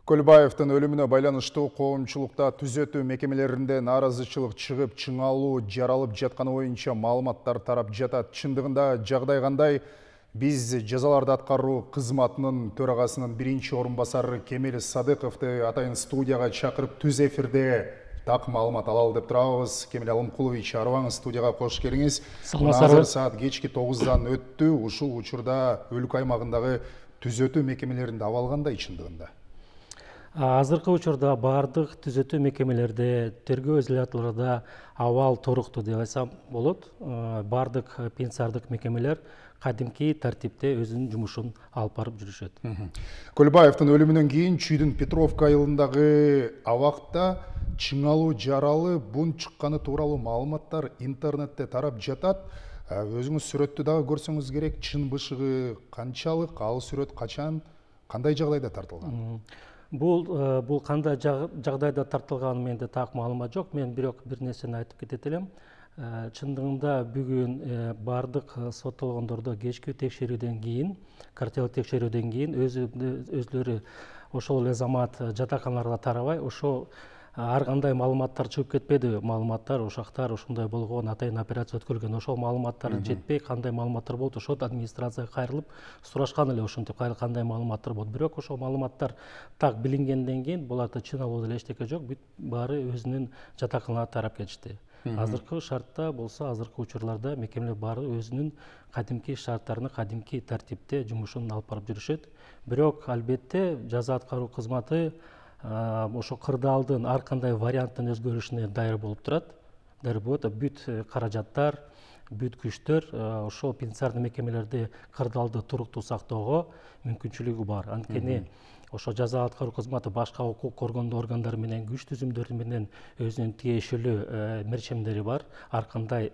Көлбаевдин өлүмүнө байланыштуу коомчулукта түзөтүү мекемелеринде нааразычылык чыгып, чыңалуу жаралып жатканы боюнча маалыматтар тарап жатат. Чындыгында жагдай кандай? Биз жазаларды аткаруу кызматынын төрагасынын биринчи орун басары Кемел Садыковду атайын студияга чакырып түз эфирде так маалымат алалы деп турабыз. Кемел Алымкулович, арыбаңыз, студияга кош келиңиз. Азыр саат кечки 9-дан өттү. Ушул учурда өлкө аймагындагы түзөтүү мекемелеринде абал кандай чындыгында? Азыркы учурда бардык түзөтүү мекемелерде, тергөө изоляторлордо абал туруктуу деп айтсам болот. Бардык пенитенциардык мекемелер кадимки тартипте өзүнүн жумушун алып барып жүрүшөт. Көлбаевдин өлүмүнөн кийин Чүйдүн Петровка айылындагы абакта чыңалуу жаралы бунт чыкканы тууралуу маалыматтар интернетте тарап жатат. Өзүңүз сүрөттү дагы көрсөңүз керек. Чын бышыгы канчалык, ал сүрөт качан, кандай жагдайда тартылган? Бул кандай жагдайда тартылганы менде так маалымат жок. Мен бирок бир нерсени айтып кетет элем. Чындыгында бүгүн бардык соттолгондордо кечки текшерүүдөн кийин, картелик текшерүүдөн кийин өзлөрү ошол эле замат жатаканаларга тарабай, ошо ар кандай маалыматтар чыгып кетпеди. Маалыматтар ушактар ушундай болгон, атайын операция өткөрүлгөн, ошол маалыматтар жетпей, кандай маалыматтар болот, ошол администрацияга кайрылып сурашкан эле, ошентип кандай маалыматтар болот. Бирок ошол маалыматтар так билингенден кийин буларда чыңалуу деле эчтеке жок, бүт баары өзүнүн жатаканаларына тарап кетишти. Азыркы шартта болсо, азыркы учурларда мекемелер баары өзүнүн кадимки шарттарына, кадимки тартипте жумушун алып барып жүрүшөт. Бирок албетте жаза аткаруу кызматы ошо кырдаалдын ар кандай варианттын өзгөрүшүнө даяр болуп турат. Даяр болот. Бүт каражаттар, бүт күчтөр ошол пенитенциардык мекемелерде кырдаалды туруктуу сактоого мүмкүнчүлүгү бар. Анткени ошо жаза аткаруу кызматы башка укук коргондоо органдары менен, күч түзүмдөрү менен өзүнүн тиешелүү мерчемдери бар. Ар кандай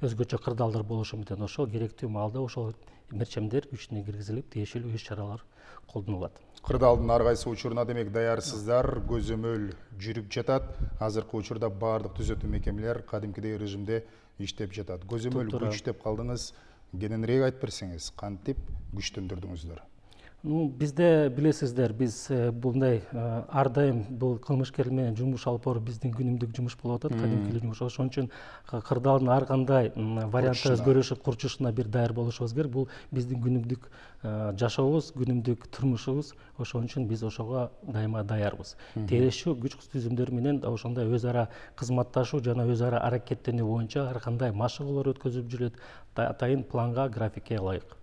өзгөчө кырдаалдар болушу мүмкүн. Ошол керектүү маалда ошол мерчемдер күчүнө киргизилип, тиешелүү иш чаралар колдонулат. Кырдаалдын ар кайсы учуруна демек даярсыздар, көзөмөл жүрүп жатат. Азыркы учурда бардык түзөтүү мекемелер кадимкидей режимде иштеп жатат. Көзөмөл күч деп калдыңыз. Кененирээк айтып берсеңиз, кантип күчтөндүрдүңүздөр? Бизде билесиздер, биз мындай ар дайым бул кылмышкерлер менен жумуш алып баруу биздин күнүмдүк жумуш болуп атат, кадимки жумуш. Ошон үчүн кырдаалдын ар кандай вариантта өзгөрүшү курчушуна бир даяр болушубуз керек. Бул биздин күнүмдүк жашообуз, күнүмдүк турмушубуз. Ошон үчүн биз ошого дайыма даярбыз. Тиешелүү күч түзүмдөр менен ошондой өз ара кызматташуу жана өз ара аракеттенүү боюнча ар кандай машыгуулар өткөзүлүп жүрөт, атайын планга, графикке ылайык.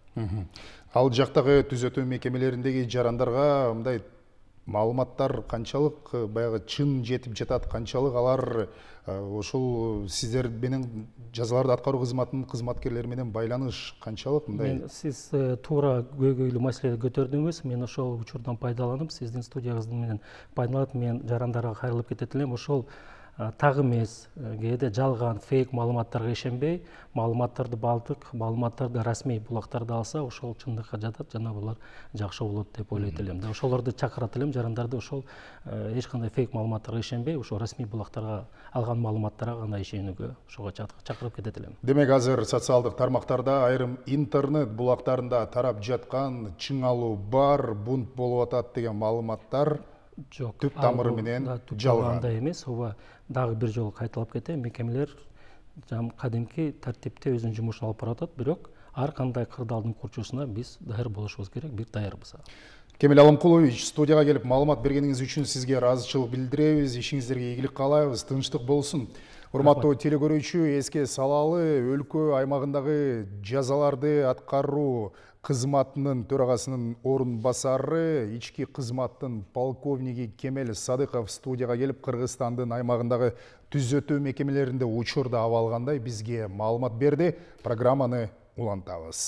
Ал жактагы түзөтүү мекемелериндеги жарандарга мындай маалыматтар канчалык баягы чын жетип жатат, канчалык алар ошол сиздер менен жазаларды аткаруу кызматынын кызматкерлери менен байланыш канчалык мындай? Сиз туура көйгөйлүү маселени көтөрдүңүз. Мен ошол учурдан пайдаланып, сиздин студияңызды менен пайдаланып, мен жарандарга кайрылып кетет элем. Ошол так эмес, кээде жалган, фейк маалыматтарга ишенбей, маалыматтарды бардык маалыматтарды расмий булактарды алса, ошол чындыкка жатат жана булар жакшы болот деп ойлойт элем. Ошолорду чакырат элем, жарандарды ошол эч кандай фейк маалыматтарга ишенбей, ошол расмий булактарга алган маалыматтарга гана ишенүүгө ошого чакырып кетет элем. Демек азыр социалдык тармактарда, айрым интернет булактарында тарап жаткан чыңалуу бар, бунт болуп атат деген маалыматтар жок. Түп тамыры менен жалган. Андай эмес. Ооба, дагы бир жолу кайталап кетем. Мекемелер кадимки тартипте өзүнүн жумушун алып барып атат, бирок ар кандай кырдаалдын курчуусуна биз даяр болушубуз керек, бир даярбыз. Кемел Алымкулович, студияга келип маалымат бергениңиз үчүн сизге ыраазычылык билдиребиз. Ишиңиздерге ийгилик каалайбыз, тынчтык болсун. Урматтуу телекөрүүчү, эске салалы, өлкө аймагындагы жазаларды аткаруу кызматынын төрагасынын орун басары, ички кызматтын полковниги Кемел Садыков студияга келип, Кыргызстандын аймагындагы түзөтүү мекемелеринде учурда абал кандай бизге маалымат берди. Программаны улантабыз.